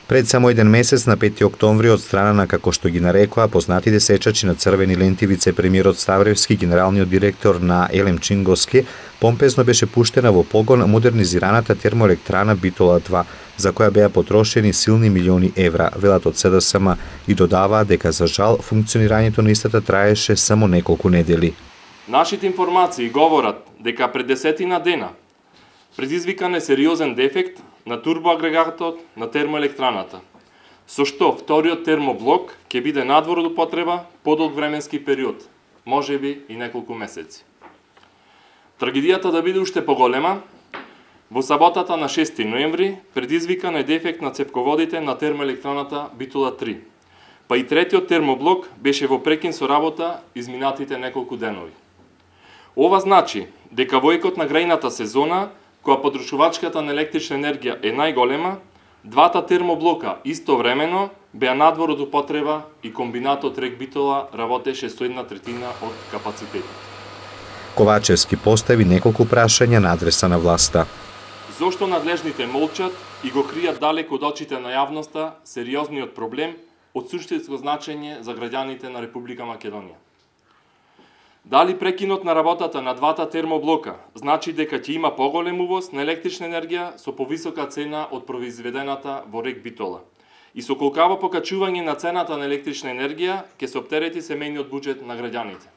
Пред само еден месец, на 5 октомври, од страна на, како што ги нарекоа, познатите сечачи на црвени ленти, вице-премиерот Ставревски, генералниот директор на ЕЛЕМ Чинговски, помпезно беше пуштена во погон модернизираната термоелектрана Битола 2, за која беа потрошени силни милиони евра, велат од СДСМ, и додаваа дека за жал функционирањето на истата траеше само неколку недели. Нашите информации говорат дека пред 10 дена предизвикан е сериозен дефект на турбоагрегатот на термоелектраната, со што вториот термоблок ќе биде надвор од употреба подолг временски период, можеби и неколку месеци. Трагедијата да биде уште поголема, во саботата на 6 ноември предизвикан е дефект на цевководите на термоелектраната Битола 3, па и третиот термоблок беше во прекин со работа изминатите неколку денови. Ова значи дека во екот на грејната сезона, која потрошувачката на електрична енергија е најголема, двата термоблока истовремено беа надвор од употреба и комбинатот РЕК Битола работеше со 1/3 од капацитетот. Ковачевски постави неколку прашања на адреса на власта. Зошто надлежните молчат и го кријат далеку од очите на јавноста сериозниот проблем од суштинско значење за граѓаните на Република Македонија? Дали прекинот на работата на двата термоблока значи дека ќе има поголем увоз на електрична енергија со повисока цена од произведената во РЕК Битола и со колкаво покачување на цената на електрична енергија ќе се оптерети семејниот буџет на граѓаните?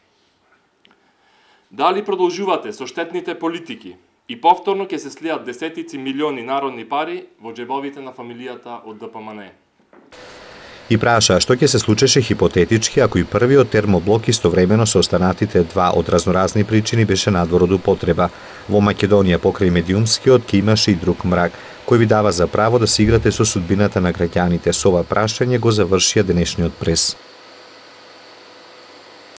Дали продолжувате со штетните политики и повторно ќе се слијат десетици милиони народни пари во џебовите на фамилијата од ДПМНЕ? И праша што ќе се случеше хипотетички ако и првиот термоблок истовремено со останатите два од разноразни причини беше надвор од употреба. Во Македонија покрај медиумскиот ќе имаше и друг мрак, кој ви дава за право да се играте со судбината на граѓаните. Со ова прашање го завршија денешниот прес.